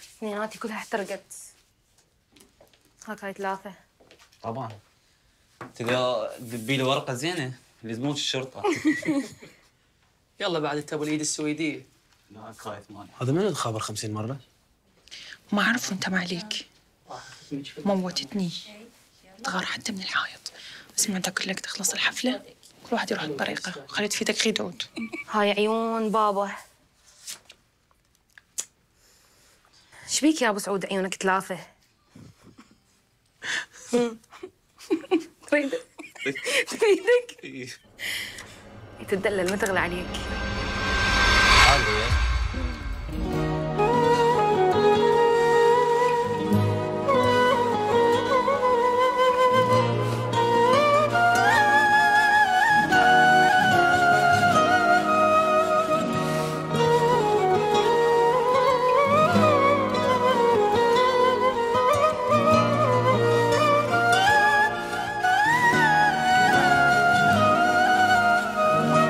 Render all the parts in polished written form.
اثنيناتي كلها احترقت. هاي 3. طبعا تقدر تدبي لي ورقه زينه لزموج الشرطه. يلا بعد انت ابو اليد السويديه. لا خايف ماني. هذا من الخابر 50 مرة؟ ما أعرف وأنت ما عليك. موتتني. تغار حتى من الحائط. سمعتك لك تخلص الحفلة كل واحد يروح بطريقة وخليت في ايدك خدود. هاي عيون بابا. شبيك يا ابو سعود عيونك 3؟ تريدك؟ تريدك؟ تدلل ما تغلى عليك.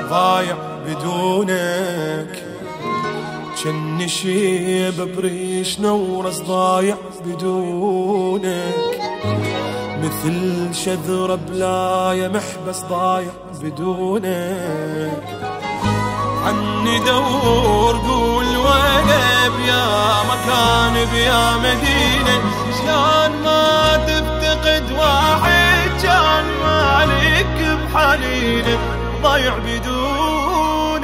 ضايع بدونك جني شيب بريش نورس ضايع بدونك مثل شذرة بلاية محبس ضايع بدونك عني دور قول وانا بيا مكان بيا مدينة شلون ما تفتقد واحد كان مالك بحنينه ضايع بدونك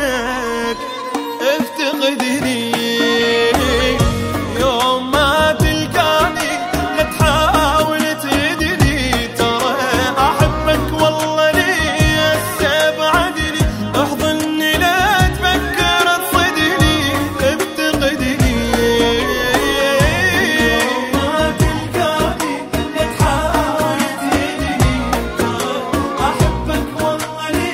افتقدني يوم ما تلقاني لا تحاول تدري ترى احبك والله لي استبعدني احضني لا تفكر تصدني افتقدني يوم ما تلقاني لا تحاول تدري ترى احبك والله لي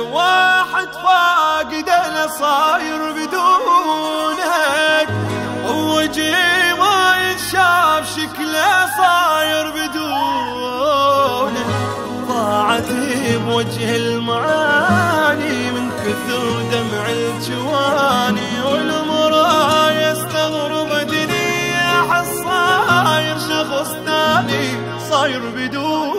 واحد فاقد انا صاير بدونك ووجهي ما ينشاف شكله صاير بدونك ضاعت بوجه المعاني من كثر دمع الجواني والمرايا استغرب ادري احس صاير شخص ثاني صاير بدونك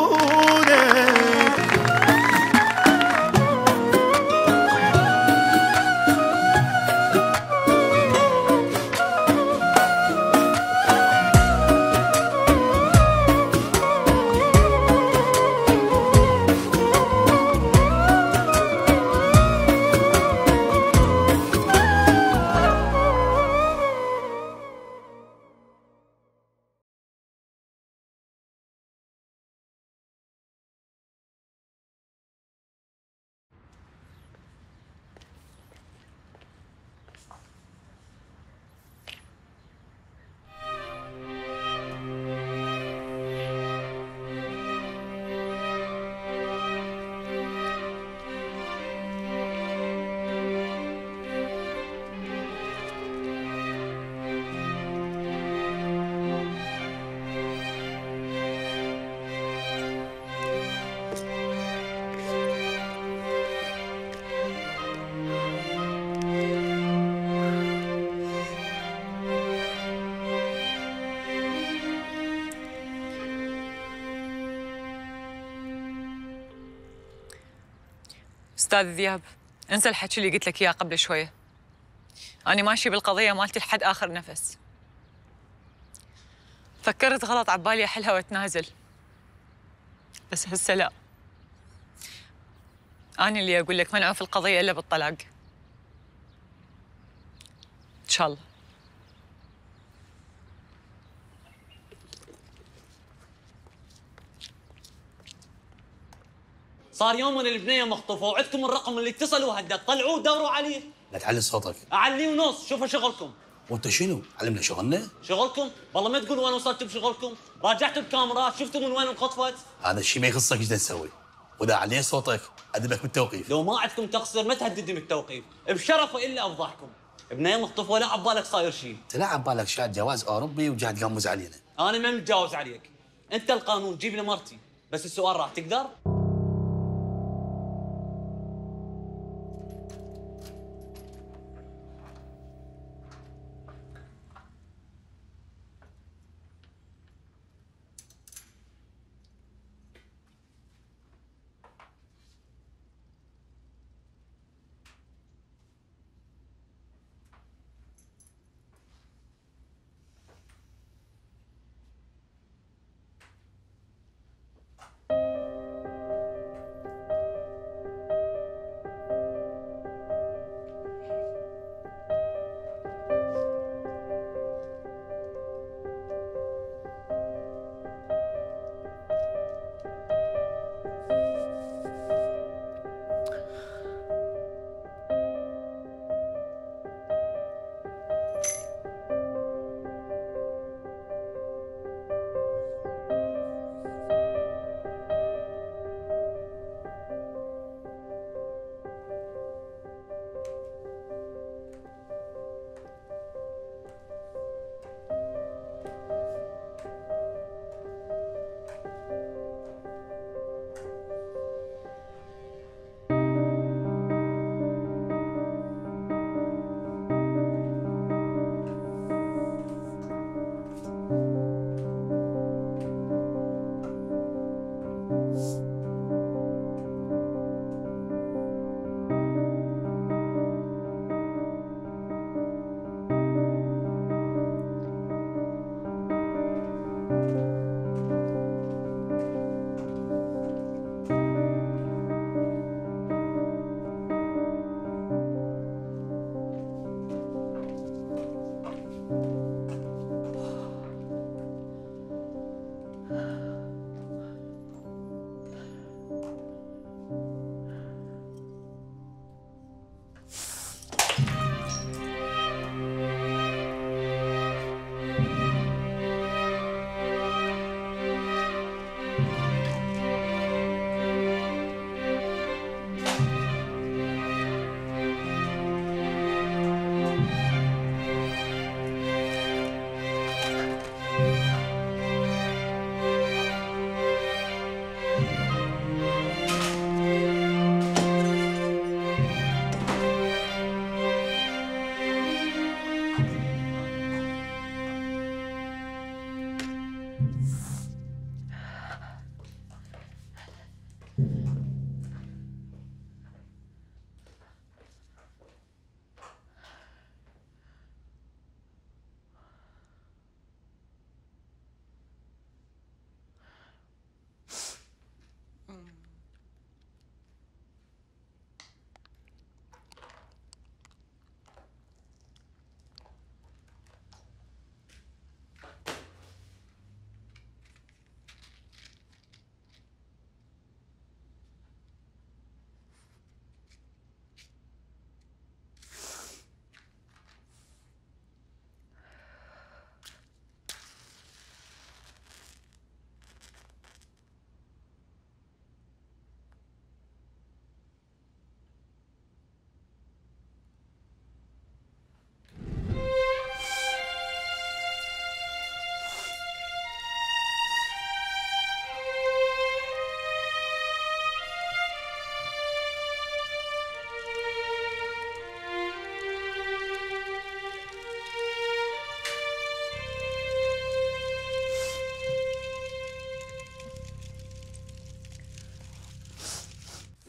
استاذ ذياب، انسى الحكي اللي قلت لك اياه قبل شويه. أنا ماشي بالقضيه مالتي لحد اخر نفس. فكرت غلط عبالي احلها واتنازل، بس هسه لا. أنا اللي اقول لك منعوا في القضيه الا بالطلاق. ان شاء الله. صار يوم من البنيه مخطوفه وعندكم الرقم اللي اتصلوا هدد، طلعوه ودوروا عليه. لا تعلي صوتك. اعليه ونص، شوفوا شغلكم. وانت شنو؟ علمنا شغلنا؟ شغلكم؟ والله ما تقولوا وين وصلتوا بشغلكم، راجعتوا الكاميرات شفتوا من وين انخطفت؟ هذا الشيء ما يخصك ايش تسوي، واذا عليت صوتك ادبك بالتوقيف. لو ما عندكم تقصير ما تهددني بالتوقيف، بشرف الا افضحكم. بنيه مخطوفه ولا عبالك صاير شيء. انت لا عبالك شاد جواز اوروبي وجاي تقمز علينا. انا ما متجاوز عليك، انت القانون جيب لي مرتي، بس السؤال راح تقدر؟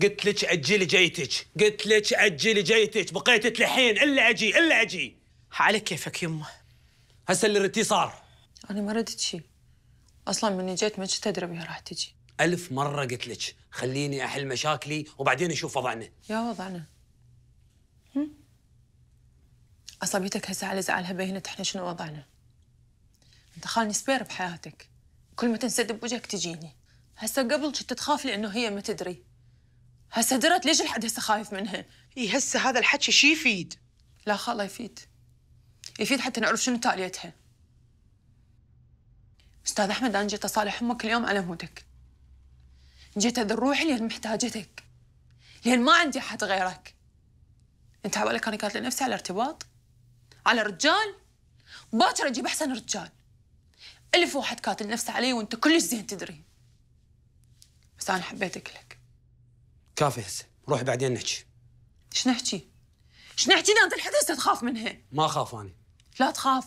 قلت لك اجلي جيتك، قلت لك اجلي جيتك، بقيت تلحين الا اجي الا اجي. على كيفك يمه. هسه اللي ردتيه صار. انا ما ردت شيء اصلا، من جيت ما كنت ادري بها راح تجي. 1000 مرة قلت لك خليني احل مشاكلي وبعدين نشوف وضعنا. يا وضعنا عصبيتك هسه على زعلها بينت احنا شنو وضعنا. انت خالني سبير بحياتك، كل ما تنسد بوجهك تجيني. هسه قبل كنت تخاف لانه هي ما تدري، هسه درت ليش الحد هسه خايف منها؟ اي هسه هذا الحكي شي يفيد؟ لا خاله يفيد حتى نعرف شنو تاليتها. استاذ احمد انا جيت اصالح امك اليوم على مودك، جيت اذل روحي لان محتاجتك، لان ما عندي احد غيرك. انت عبالك انا كاتله نفسي على ارتباط؟ على رجال؟ باكر اجيب احسن رجال. 1000 واحد كاتل نفسه علي وانت كلش زين تدري، بس انا حبيتك لك. كافي هسه، روحي بعدين نحكي. ايش نحكي؟ ايش نحكي؟ انت الحد هسه تخاف منها. ما اخاف اني. لا تخاف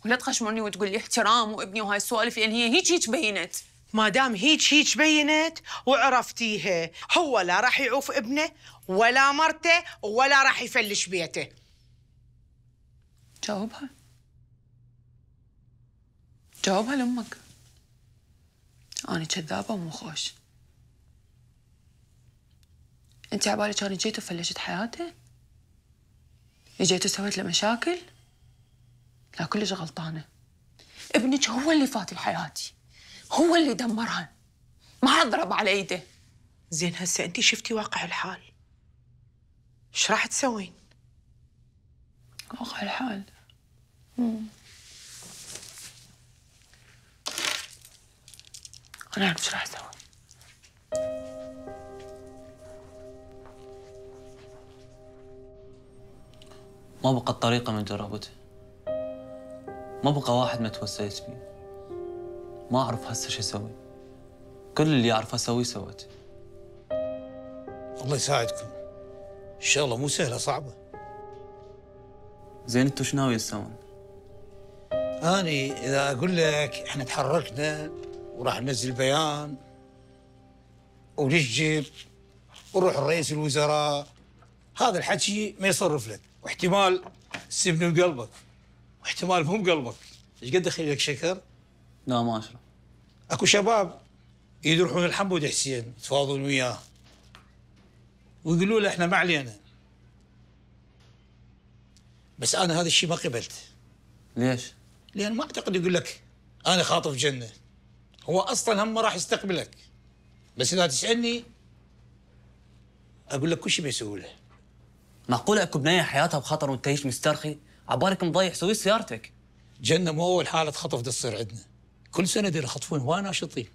ولا تخشمني وتقول لي احترام وابني وهاي السوالف، لان هي هيك بينت. ما دام هيك بينت وعرفتيها، هو لا راح يعوف ابنه ولا مرته ولا راح يفلش بيته. جاوبها لامك. انا كذابه ومو خوش. انت عبالك انا جيت وفلشت حياته؟ جيت وسويت له مشاكل؟ لا كلش غلطانه. ابنك هو اللي فات لحياتي، هو اللي دمرها، ما اضرب على ايده. زين هسه انت شفتي واقع الحال، ايش راح تسوين؟ واقع الحال انا اعرف ايش راح اسوي. ما بقى طريقة من جرابته، ما بقى واحد ما توسيت فيه. ما أعرف هسه شو أسوي، كل اللي أعرف أسويه سويته. الله يساعدكم، الشغلة مو سهلة صعبة. زين انتو شو ناوي تسوون؟ أني إذا أقول لك إحنا تحركنا وراح ننزل بيان ونسجل ونروح الرئيس الوزراء، هذا الحكي ما يصرف لك، واحتمال تسيبني بقلبك واحتمال مو بقلبك. ايش قد اخلي لك شكر؟ لا ما اشرب. اكو شباب يروحون الحمود حسين يتفاوضون وياه ويقولوا له احنا ما علينا، بس انا هذا الشيء ما قبلت. ليش؟ لان ما اعتقد يقول لك انا خاطف جنه، هو اصلا هم ما راح يستقبلك. بس اذا تسالني اقول لك كل شيء بيسوي له. معقوله اكو بنيه حياتها بخطر وانت هيك مسترخي؟ عبالك مضيع سوي سيارتك. جنه مو اول حاله خطف تصير عندنا، كل سنه دي يخطفون هواي ناشطين.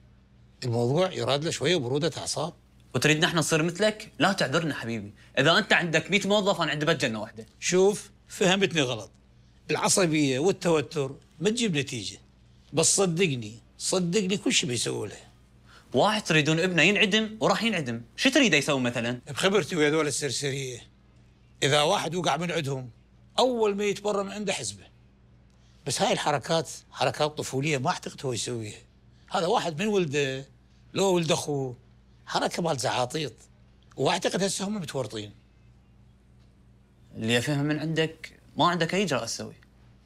الموضوع يراد له شويه بروده اعصاب. وتريدنا احنا نصير مثلك؟ لا تعذرنا حبيبي، اذا انت عندك 100 موظف انا عندي بس جنه واحده. شوف فهمتني غلط، العصبيه والتوتر ما تجيب نتيجه، بس صدقني كل شيء بيسووا له. واحد تريدون ابنه ينعدم وراح ينعدم، شو تريده يسوي مثلا؟ بخبرتي ويا هذول السرسريه، اذا واحد وقع من عندهم اول ما يتبرى من عنده حزبه. بس هاي الحركات حركات طفوليه ما اعتقد هو يسويها. هذا واحد من ولده لو ولد اخوه، حركه مال زعاطيط، واعتقد هسه هم متورطين. اللي افهم من عندك ما عندك اي اجراء تسوي.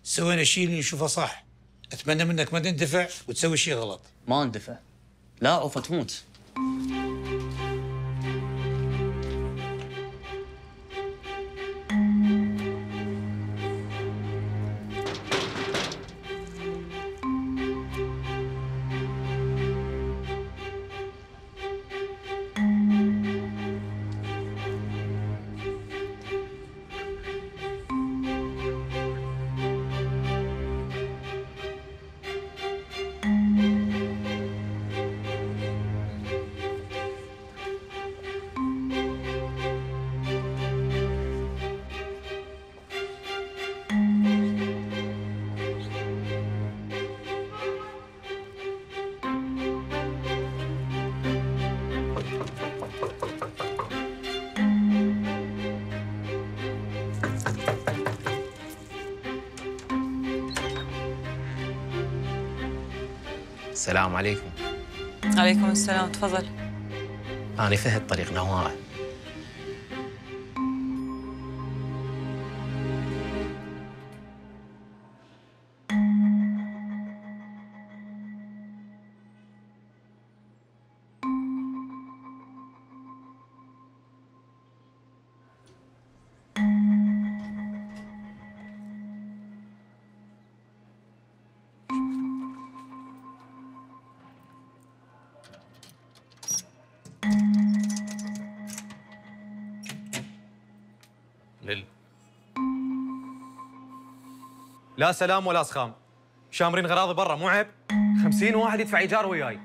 سوينا شيء اللي نشوفه صح، اتمنى منك ما تندفع وتسوي شيء غلط. ما اندفع، لا عوفه تموت. السلام عليكم. عليكم السلام، تفضل. أنا فهد طريق نوارة. لا سلام ولا سخام، شامرين غراضي برا مو عيب؟ 50 واحد يدفع ايجار وياي.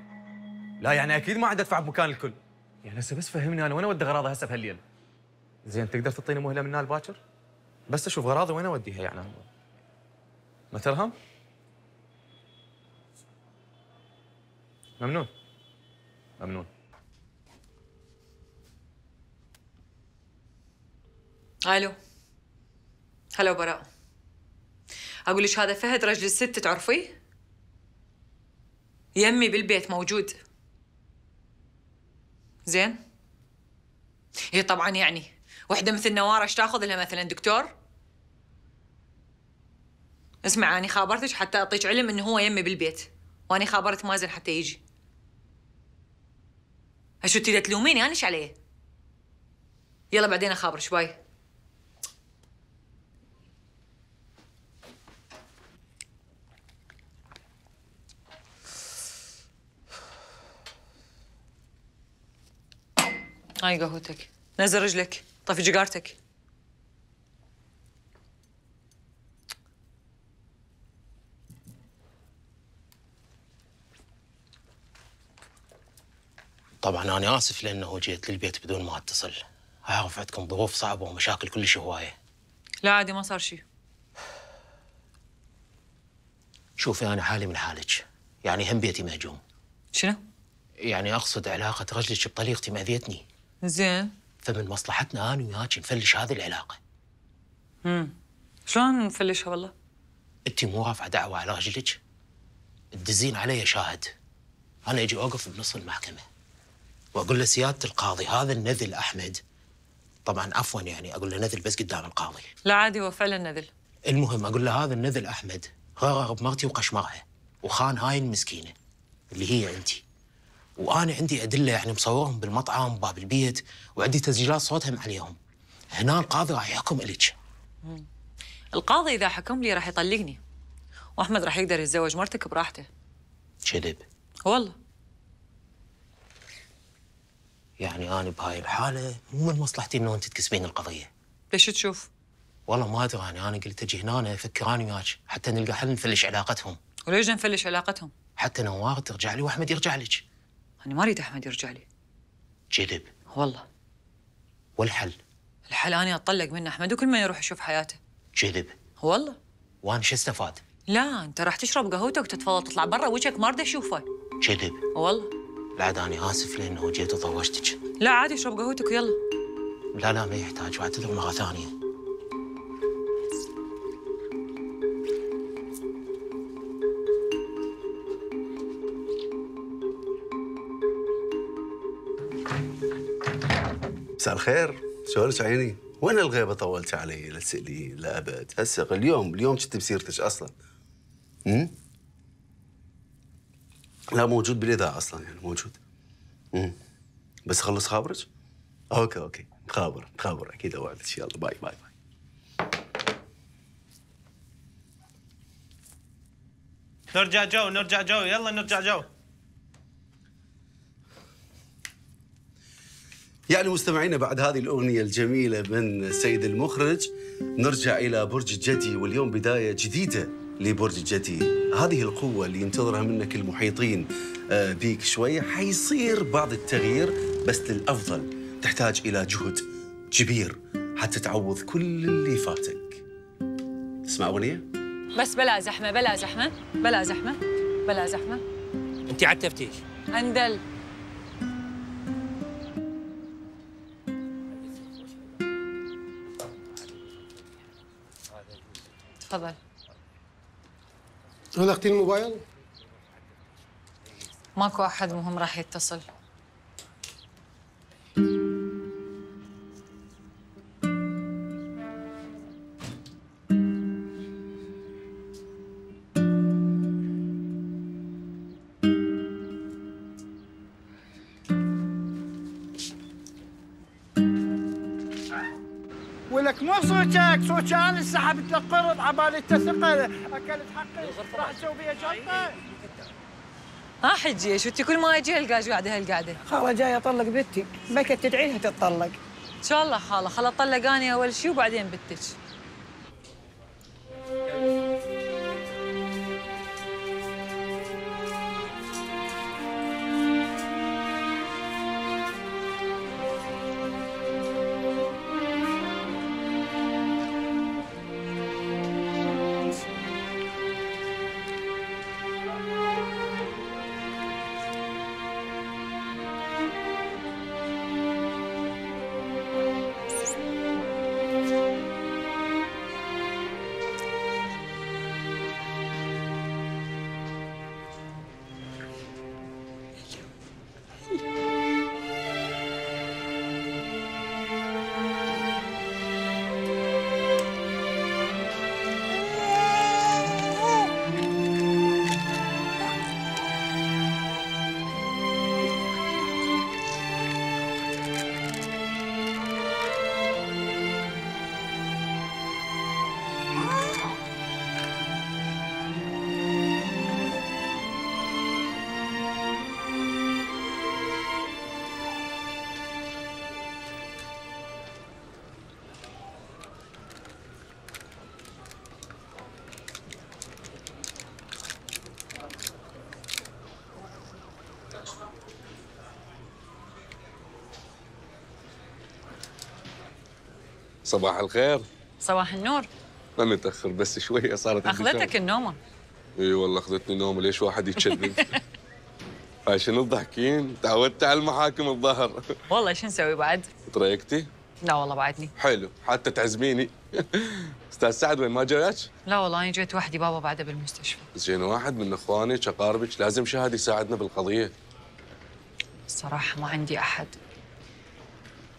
لا يعني اكيد ما عاد ادفع بمكان الكل. يعني هسه بس فهمني انا وين اودي غراضي هسه بهالليل؟ زين تقدر تعطيني مهله من هنا لباكر؟ بس اشوف غراضي وين اوديها يعني. ما ترهم؟ ممنون. ممنون. الو. هلا براء. اقول لك هذا فهد رجل الست تعرفيه؟ يمي بالبيت موجود. زين؟ هي طبعا يعني وحده مثل نواره ايش تاخذ لها مثلا دكتور؟ اسمع اني خابرتك حتى اعطيك علم انه هو يمي بالبيت، واني خابرت مازن حتى يجي. شو تريد تلوميني انا ايش عليه؟ يلا بعدين اخابرك. باي. هاي قهوتك، نزل رجلك، طفي جيجارتك. طبعا أنا آسف لأنه جيت للبيت بدون ما أتصل. أعرف عندكم ظروف صعبة ومشاكل كلش هواية. لا عادي ما صار شيء. شوفي أنا حالي من حالك، يعني هم بيتي مهجوم. شنو؟ يعني أقصد علاقة رجلك بطليقتي مأذيتني. زين. فمن مصلحتنا أنا وياك نفلش هذه العلاقة. شلون نفلشها والله؟ أنت مو رافعة دعوة على رجلك؟ تدزين علي شاهد. أنا أجي أوقف بنص المحكمة وأقول له سيادة القاضي هذا النذل أحمد، طبعا عفوا يعني أقول له نذل بس قدام القاضي. لا عادي هو فعلا نذل. المهم أقول له هذا النذل أحمد غرر بمرتي وقشمرها وخان هاي المسكينة اللي هي أنت. وأنا عندي أدلة يعني مصورهم بالمطعم باب البيت وعندي تسجيلات صوتهم عليهم. هنا القاضي راح يحكم إليك. القاضي إذا حكم لي راح يطلقني، وأحمد راح يقدر يتزوج مرتك براحته. كذب؟ والله. يعني أنا بهاي الحالة مو من مصلحتي إنه أنت تكسبين القضية. ليش تشوف؟ والله ما أدري أنا قلت أجي هنا أفكر أنا وياك حتى نلقى حل نفلش علاقتهم. وليش نفلش علاقتهم؟ حتى نوار ترجع لي وأحمد يرجع لك. أنا ما أريد أحمد يرجع لي. كذب؟ والله. والحل؟ الحل أنا أطلق من أحمد وكل ما يروح يشوف حياته. كذب؟ والله. وأنا شو استفاد؟ لا أنت راح تشرب قهوتك وتتفضل تطلع برا وجهك ما أريد أشوفه. كذب؟ والله. لا عاد أنا آسف لأنه جيت وطوشتك. لا عادي اشرب قهوتك ويلا. لا ما يحتاج، واعتذر مرة ثانية. مساء الخير، شلونك عيني؟ وين الغيبة طولت علي؟ لا تسألي لا أبد، هسه اليوم كنت بسيرتك أصلاً. لا موجود بالإذاعة أصلاً يعني موجود. بس خلص خابرك؟ أوكي خابر أكيد أوعدك. يلا باي. نرجع جو يلا نرجع جو. يعني مستمعينا بعد هذه الأغنية الجميلة من السيد المخرج نرجع إلى برج الجدي، واليوم بداية جديدة لبرج الجدي. هذه القوة اللي ينتظرها منك المحيطين بيك شوية حيصير بعض التغيير بس للأفضل. تحتاج إلى جهد كبير حتى تعوض كل اللي فاتك. اسمع أغنية؟ بس بلا زحمة. أنت على التفتيش. أندل. تفضل. غلقتي الموبايل؟ ماكو أحد مهم راح يتصل. ولك مو صوتك، صوتي انا سحبت لك قرض عبالي تثقل اكلت حقي راح تسوي بيها شنطه. حجي شو انت كل ما اجي القاش قاعده هالقعده. خاله جاي اطلق بنتي، بكت تدعي لها تتطلق. ان شاء الله خاله، خل اطلق اني اول شيء وبعدين بنتك. صباح الخير. صباح النور. ما متأخر بس شوية صارت أخذتك النومة. اي والله أخذتني نومة، ليش واحد يتشذب؟ هاي شنو تضحكين؟ تعودت على المحاكم الظهر. والله شو نسوي بعد؟ تريقتي؟ لا والله بعدني. حلو، حتى تعزميني. أستاذ سعد وين ما جايك؟ لا والله أنا جيت وحدي، بابا بعده بالمستشفى. زين واحد من إخوانك أقاربك لازم شاهد يساعدنا بالقضية. الصراحة ما عندي أحد.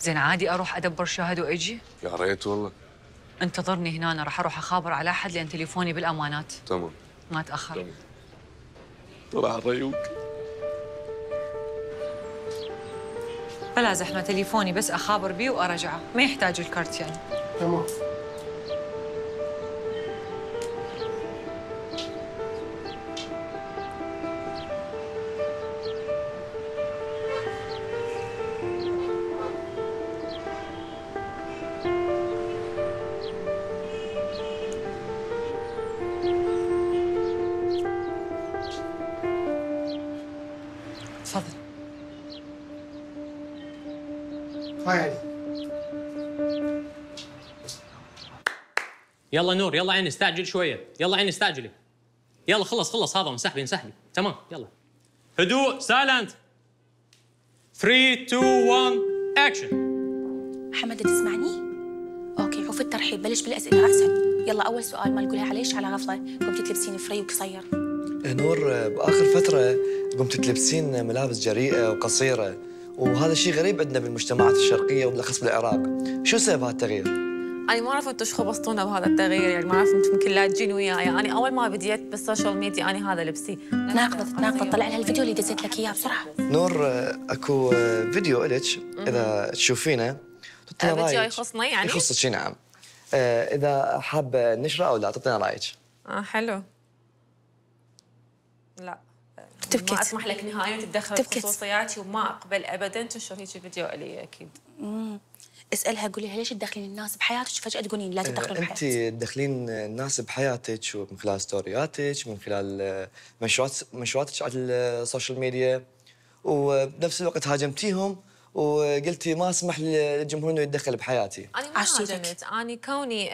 زين عادي أروح أدبر شاهد وأجي؟ يا ريت والله. انتظرني هنا، أنا راح أروح أخابر على أحد لأن تليفوني بالأمانات. تمام. ما تأخر. تمام. طلع الريوق. بلا زحمة، تليفوني بس أخابر بيه وأرجعه، ما يحتاج الكارت يعني. تمام. تفضل. هاي يلا نور، يلا عيني استعجل شويه، يلا عيني استعجلي. يلا خلص هذا، انسحبي تمام. يلا هدوء، سايلنت. 3 2 1 اكشن. محمد تسمعني؟ اوكي، عوف الترحيب، بلش بالاسئله راسا. يلا اول سؤال ما نقولها عليش على غفله، قمتي تلبسين فري وقصير. نور، باخر فتره قمت تلبسين ملابس جريئه وقصيره، وهذا الشيء غريب عندنا بالمجتمعات الشرقيه وبالاخص بالعراق. شو سبب هذا التغيير؟ أنا ما أعرف أنتم شو خبصتونا بهذا التغيير، يعني ما أعرف أنتم يمكن لا تجين وياي، أنا أول ما بديت بالسوشيال ميديا أنا هذا لبسي. تناقضت، طلع لها الفيديو اللي دزيت لك إياه بسرعة. نور، اكو فيديو إلك إذا تشوفينه تعطينا رايك. فيديو يخصنا يعني؟ يخصك نعم. إذا حابة نشره أو لا تعطينا رايك. حلو. لا ما أسمح لك نهائياً تتدخل بخصوصياتي، وما أقبل أبداً تنشر هيك فيديو إلي أكيد. اسألها، قولي لها ليش تدخلين الناس بحياتك فجأة تقولين لا تدخلون بحياتي؟ أنت تدخلين الناس بحياتك من خلال ستورياتك، من خلال منشوراتك على السوشيال ميديا، وبنفس الوقت هاجمتيهم وقلتي ما اسمح للجمهور انه يتدخل بحياتي. انا ما هاجمت، انا كوني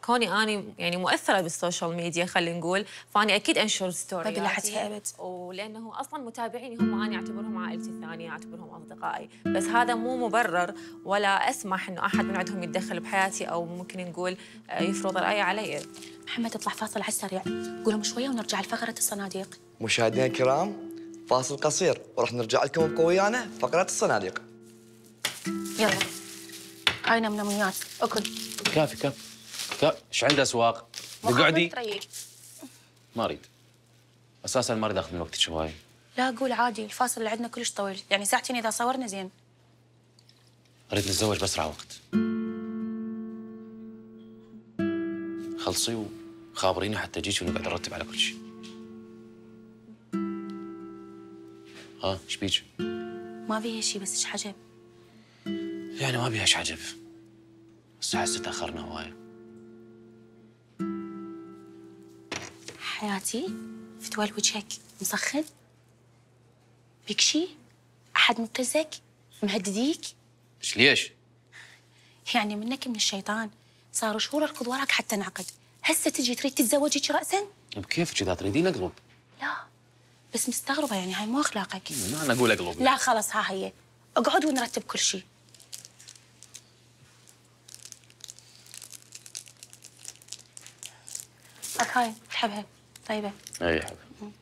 كوني انا يعني مؤثره بالسوشيال ميديا خلينا نقول، فاني اكيد انشر ستورياتي. ما بلحتها ابد. ولانه اصلا متابعيني هم انا اعتبرهم عائلتي الثانيه، اعتبرهم اصدقائي، بس هذا مو مبرر ولا اسمح انه احد من عندهم يتدخل بحياتي او ممكن نقول يفرض رايه علي. محمد اطلع فاصل على السريع، قولهم شويه ونرجع لفقره الصناديق. مشاهدينا الكرام، فاصل قصير وراح نرجع لكم بقويانا فقره الصناديق. يلا هاي نمنميات اكل. كافي كافي كافي. ايش عنده اسواق؟ اقعدي. ما اريد. اساسا ما اريد اخذ من وقتك هواي. لا قول عادي، الفاصل اللي عندنا كلش طويل، يعني ساعتين اذا صورنا زين. اريد نتزوج باسرع وقت. خلصي وخابريني حتى اجيك ونقعد نرتب على كل شيء. ها ايش بيك؟ ما بيها شيء بس ايش عجب؟ يعني ما بيها ايش عجب. بس احس تاخرنا هواي. حياتي فتوال وجهك مسخن؟ بيك شي؟ احد مبتزك؟ مهدديك؟ ايش ليش؟ يعني منك من الشيطان، صاروا شهور اركض وراك حتى انعقد، هسه تجي تريد تتزوجيك راسا؟ بكيفك اذا تريدين اقلب. لا بس مستغربه، يعني هاي مو اخلاقك. ما انا اقول اقلب. لا خلص ها هي، اقعد ونرتب كل شيء. هاي تحبها طيبه. اي حبيبي.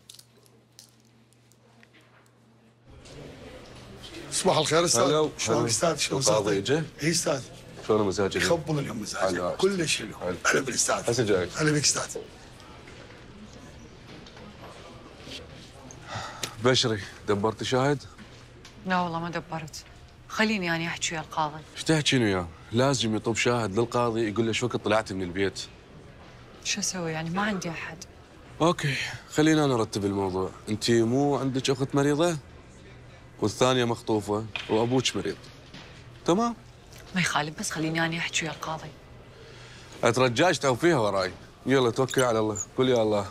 صباح الخير استاذ. شلونك استاذ؟ شلون القاضي اجى؟ اي استاذ. شلون مزاجك؟ يخبل اليوم مزاجك كلش حلو. هلا بالاستاذ. هسه جايك. هلا بك استاذ. بشري دبرتي شاهد؟ لا والله ما دبرت. خليني أنا أحكي ويا القاضي. ايش تحكين وياه؟ لازم يطلب شاهد للقاضي يقول له ايش وقت طلعتي من البيت. شو أسوي يعني ما عندي أحد. اوكي خلينا نرتب الموضوع. انت مو عندك اخت مريضه؟ والثانيه مخطوفه وابوك مريض. تمام؟ ما يخالف بس خليني أنا أحكي ويا القاضي. اترجاش توفيها وراي. يلا توكل على الله. قول يا الله.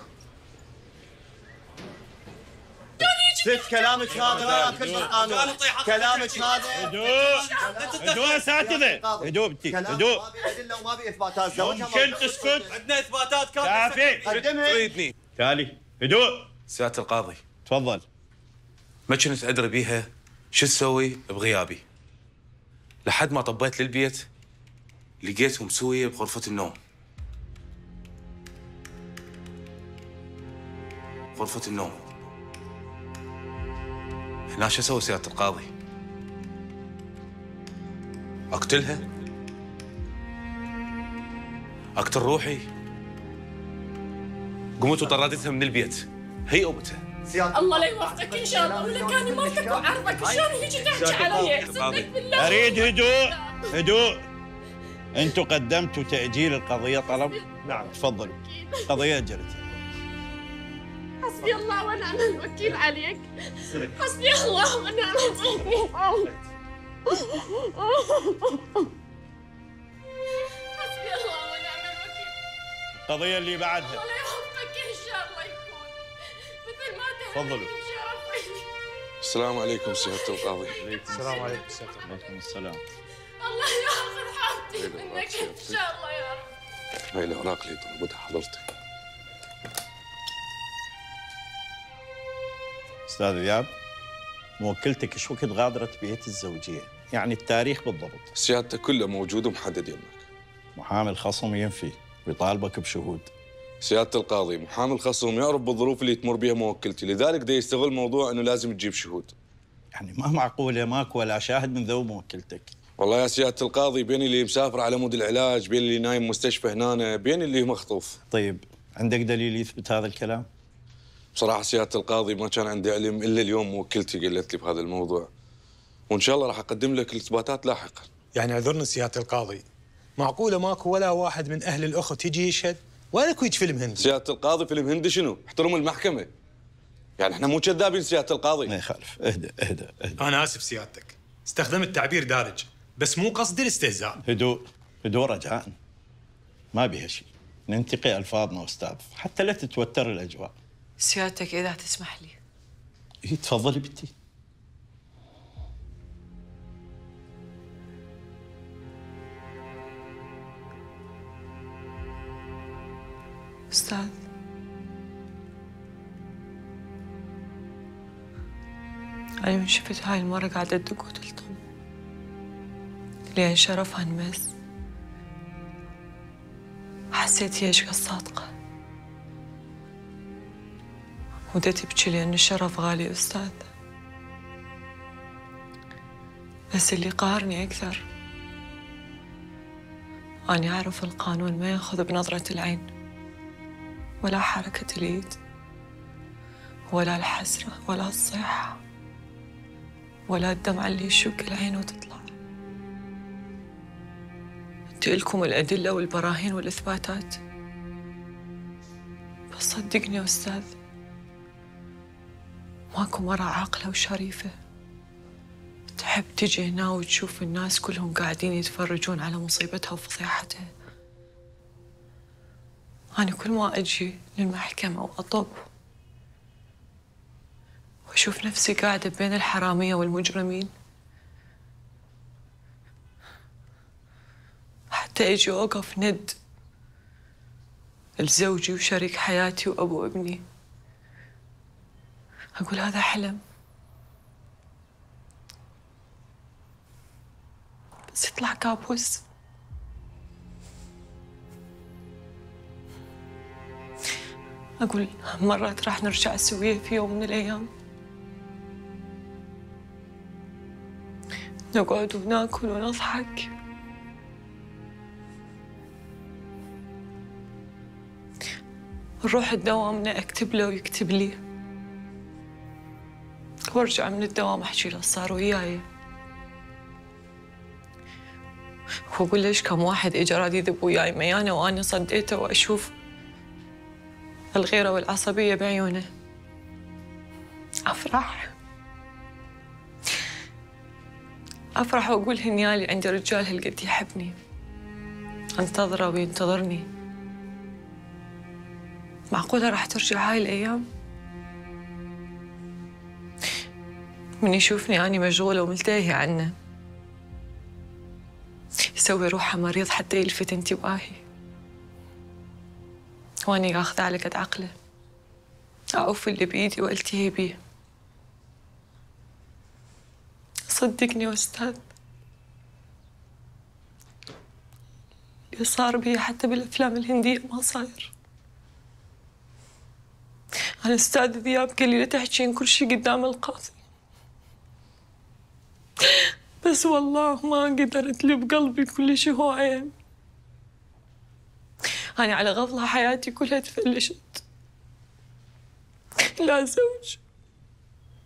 ست كلامك هذا لا ياكل بالقانون. كلامك هذا هدوء يا اساتذه. هدوء بنتي هدوء. ما بي ادله وما بي اثباتات. ممكن تسكت؟ عندنا اثباتات كافيه. قدمها. تريدني. تالي هدوء. سيادة القاضي تفضل. ما كنت ادري بيها شو تسوي بغيابي لحد ما طبيت للبيت لقيتهم مسويه بغرفة النوم. غرفة النوم. هنا شو اسوي سيادة القاضي؟ اقتلها؟ اقتل روحي؟ قمت وطردتها من البيت هي امتها. الله لا يوفقك ان شاء الله، ولا كان مرتك وعرضك شلون هيجي تحكي علي؟ اقسم بالله. اريد هدوء هدوء. انتم قدمتوا تاجيل القضيه طلب؟ نعم تفضلوا. قضيه اجلت. حسبي الله ونعم الوكيل عليك. حسبي الله ونعم الوكيل. حسبي الله ونعم الوكيل. القضيه اللي بعدها. الله لا يوفقك ان شاء الله يكون مثل ما تفضلوا. السلام عليكم سيادة القاضي. السلام عليكم سيادة القاضي. وعليكم السلام. الله ياخذ حالتي منك ان شاء الله يا رب. هاي الاوراق اللي طلبتها حضرتك. استاذ ذياب، موكلتك ايش وقت غادرت بيت الزوجيه؟ يعني التاريخ بالضبط. سيادتك كله موجود ومحدد يمك. محامي الخصم ينفي ويطالبك بشهود. سيادة القاضي محامي الخصم يعرف بالظروف اللي تمر بها موكلتي، لذلك دا يستغل موضوع انه لازم تجيب شهود. يعني ما معقوله ماكو ولا شاهد من ذوب موكلتك. والله يا سيادة القاضي بين اللي مسافر على مود العلاج، بين اللي نايم مستشفى هنا، بين اللي مخطوف. طيب عندك دليل يثبت هذا الكلام؟ بصراحة سيادة القاضي ما كان عندي علم الا اليوم موكلتي قالت لي بهذا الموضوع. وان شاء الله راح اقدم لك الاثباتات لاحقا. يعني اعذرني سيادة القاضي، معقولة ماكو ولا واحد من اهل الاخت يجي يشهد؟ ولا كويت فيلم هندي؟ سيادة القاضي فيلم هندي شنو؟ احترم المحكمة. يعني احنا مو كذابين سيادة القاضي. ما يخالف، اهدى اهدى اهدى. انا اسف سيادتك، استخدمت تعبير دارج، بس مو قصدي الاستهزاء. هدوء هدوء رجاء. ما بيها شيء، ننتقي الفاظنا استاذ، حتى لا تتوتر الاجواء. سيادتك إذا تسمح لي. إيه تفضلي بنتي. أستاذ، أنا من شفت هاي المرة قاعدة تدق وتلطم لأن شرفها انمس، حسيت هي ايش قد صادقة ودا تبكي لأن الشرف غالي أستاذ. بس اللي قهرني أكثر أني أعرف القانون ما يأخذ بنظرة العين ولا حركة اليد ولا الحسرة ولا الصيحة ولا الدمعة اللي يشق العين وتطلع. انت إلكم الأدلة والبراهين والإثباتات، بس صدقني يا أستاذ ماكو مرة عاقلة وشريفة تحب تجي هنا وتشوف الناس كلهم قاعدين يتفرجون على مصيبتها وفضيحتها. أنا كل ما أجي للمحكمة وأطب وأشوف نفسي قاعدة بين الحرامية والمجرمين، حتى أجي أوقف ند لزوجي وشريك حياتي وأبو ابني أقول هذا حلم، بس يطلع كابوس. أقول مرات راح نرجع سوية في يوم من الأيام، نقعد وناكل ونضحك، نروح الدوام أكتب له ويكتب لي، وارجع من الدوام أحكي له صار وياي، وأقول ليش كم واحد إجا راد يذب وياي ميانة وأنا صديته، وأشوف الغيرة والعصبية بعيونه. أفرح وأقول هنيالي عندي رجال هالقد يحبني، أنتظره وينتظرني. معقولة راح ترجع هاي الأيام؟ من يشوفني أني مشغولة وملتهية عنه يسوي روحه مريض حتى يلفت انتباهي، وأني آخذه على قد عقله، أعوف اللي بإيدي وألتهي بيه. صدقني يا أستاذ اللي صار بي حتى بالأفلام الهندية ما صاير. أنا أستاذ ذياب قال لي لا تحكين كل شيء قدام القاضي، بس والله ما قدرت لي بقلبي كل شيء هو عين. أنا على غفلة حياتي كلها تفلشت، لا زوج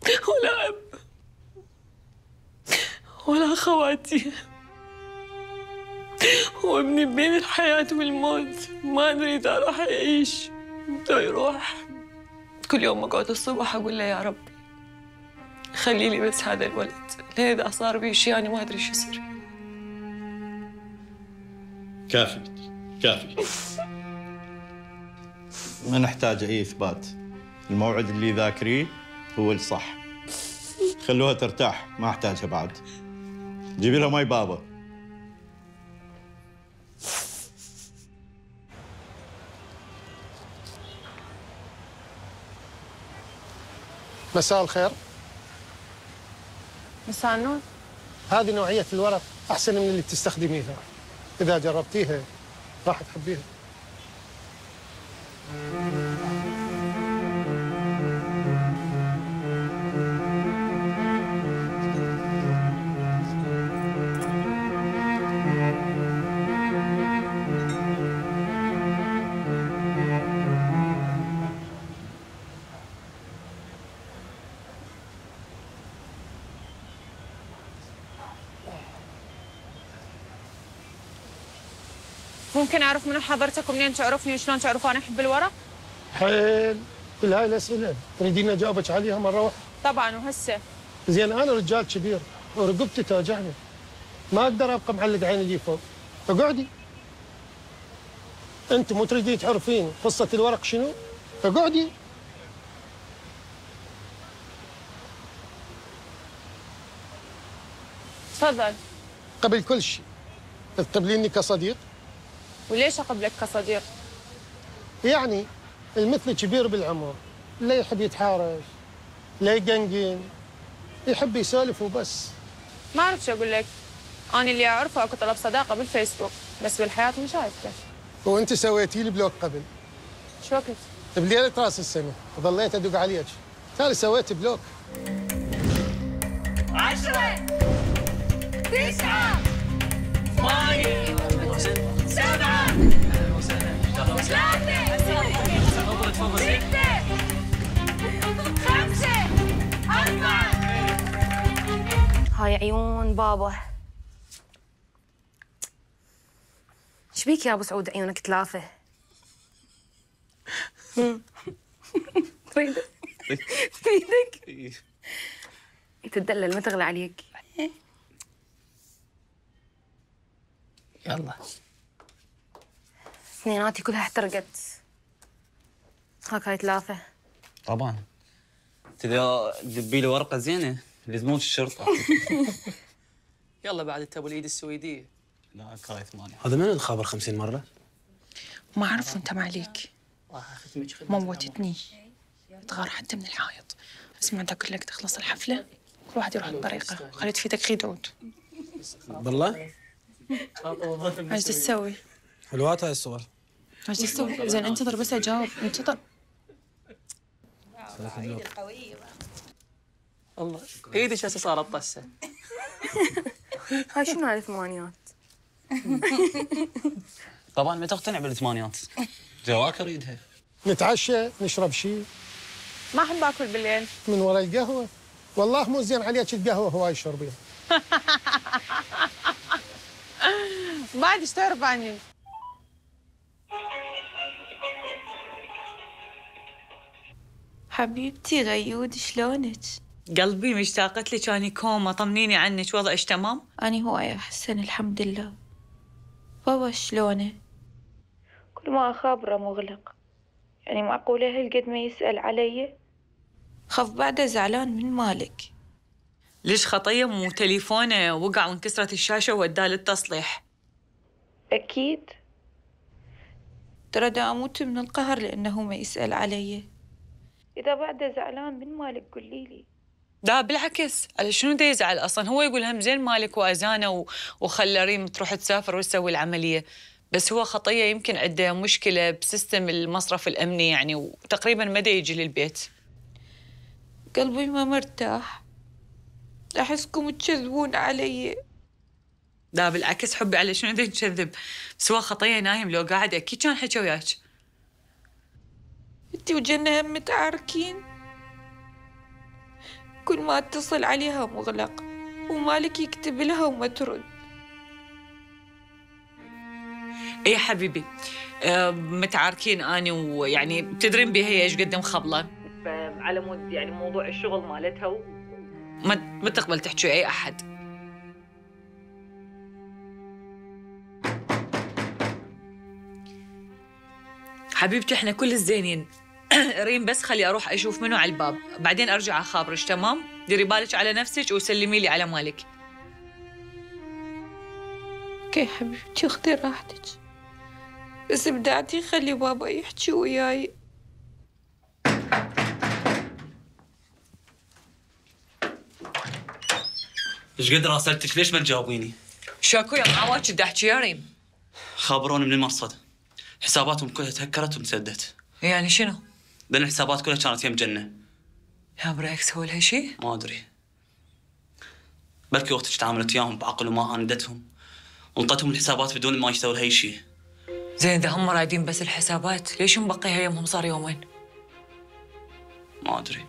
ولا أب ولا أخواتي، وابني بين الحياة والموت، ما أدري إذا راح أعيش لو يروح. كل يوم أقعد الصبح أقول له يا ربي خلي لي بس هذا الولد، لأن إذا صار بي شيء أنا ما أدري شو يصير. كافي كافي، ما نحتاج أي إثبات، الموعد اللي ذاكريه هو الصح، خلوها ترتاح ما أحتاجها بعد. جيبي لها ماي بابا. مساء الخير. مساء النور. هذه نوعية الورق أحسن من اللي تستخدميها، إذا جربتيها راح تحبيها. ممكن أعرف من حضرتك ومنين تعرفني وشلون تعرفوا أنا أحب الورق؟ حيل كل هاي الأسئلة تريدين أجاوبك عليها مرة واحدة؟ طبعاً. وهسه زين أنا رجال كبير ورقبتي توجعني، ما أقدر أبقى معلق عيني لي فوق، فقعدي. أنت مو تريدين تعرفين قصة الورق شنو؟ فقعدي. تفضل. قبل كل شيء تقبليني كصديق؟ وليش أقبلك كصديق؟ يعني المثل كبير بالعمر، لا يحب يتحارش، لا يقنقن، يحب يسولف وبس. ما أعرف شو أقول لك، أنا اللي أعرفه أكو طلب صداقة بالفيسبوك، بس بالحياة مش شايفته. وأنت سويتي لي بلوك قبل؟ شو وقت؟ بليلة راس السنة، وظليت أدق عليك، تالي سويت بلوك. 10 9 8 7 هاي عيون بابا. شبيك يا ابو سعود عيونك ثلاثة؟ تريدك؟ تريدك؟ تدلل ما تغلى عليك. يلا اثنيناتي كلها احترقت. هاك هاي ثلاثة. طبعا اذا دبي له ورقه زينه لزموك الشرطه. يلا بعد انت ابو الايد السويديه. لا كاي 8. هذا من الخابر 50 مره؟ ما اعرف وانت ما عليك. موتتني. تغار حتى من الحائط. اسمع دا اقول لك تخلص الحفله كل واحد يروح بطريقه وخليت في ايدك خدود. بالله؟ ايش تسوي؟ حلوات هاي الصور. ايش تسوي؟ زين انتظر بس اجاوب انتظر. والله ايدي هسه صارت طسه. هاي شنو هاي الثمانيات؟ طبعا ما تقتنع بالثمانيات. جواك اريدها. نتعشى نشرب شيء. ما احب اكل بالليل. من وراء القهوه. والله مو زين عليك القهوه هواي تشربيها. بعد ايش تعرف عني؟ حبيبتي غيود شلونك؟ قلبي مشتاقت لك، اني كوما، طمنيني عنك، وضعك تمام؟ أنا هواي أحسن الحمد لله. بابا شلونه؟ كل ما أخابره مغلق، يعني معقولة هالقد ما يسأل علي؟ خاف بعده زعلان من مالك. ليش خطية مو تليفونه وقع وانكسرت الشاشة ووداه للتصليح؟ أكيد. ترى دا أموت من القهر لأنه ما يسأل علي. إذا بعده زعلان من مالك قولي لي. لا بالعكس، على شنو دا يزعل اصلا؟ هو يقول هم زين مالك واذانه وخلى ريم تروح تسافر وتسوي العمليه، بس هو خطيه يمكن عنده مشكله بسيستم المصرف الامني يعني، وتقريبا ما دا يجي للبيت. قلبي ما مرتاح، احسكم تكذبون علي. لا بالعكس حبي، على شنو دا نكذب؟ بس هو خطيه نايم، لو قاعد اكيد كان حكى وياك. انتي وجنة هم متعاركين، كل ما اتصل عليها مغلق ومالك يكتب لها وما ترد. اي حبيبي، متعاركين اني ويعني تدرين بها هي ايش قد مخبله، على مود يعني موضوع الشغل مالتها ما تقبل تحكي اي احد. حبيبتي احنا كل الزينين. ريم بس خلي اروح اشوف منو على الباب، بعدين ارجع اخابرك، تمام؟ ديري بالك على نفسك وسلمي لي على مالك. اوكي حبيبتي، خذي راحتك، بس بدعتي خلي بابا يحكي وياي. ايش قد راسلتك ليش ما تجاوبيني؟ شاكو يا معواج بدي احكي يا ريم. خابروني من المرصد، حساباتهم كلها تهكرت وانسدت. يعني شنو؟ لان الحسابات كلها كانت يم جنة. يا برايك سووا لها شيء؟ ما ادري، بلكي وقتك تعاملت وياهم بعقل وما عاندتهم وانطتهم الحسابات بدون ما يسووا لها اي شيء. زين اذا هم رايدين بس الحسابات، ليش مبقيها يمهم صار يومين؟ ما ادري.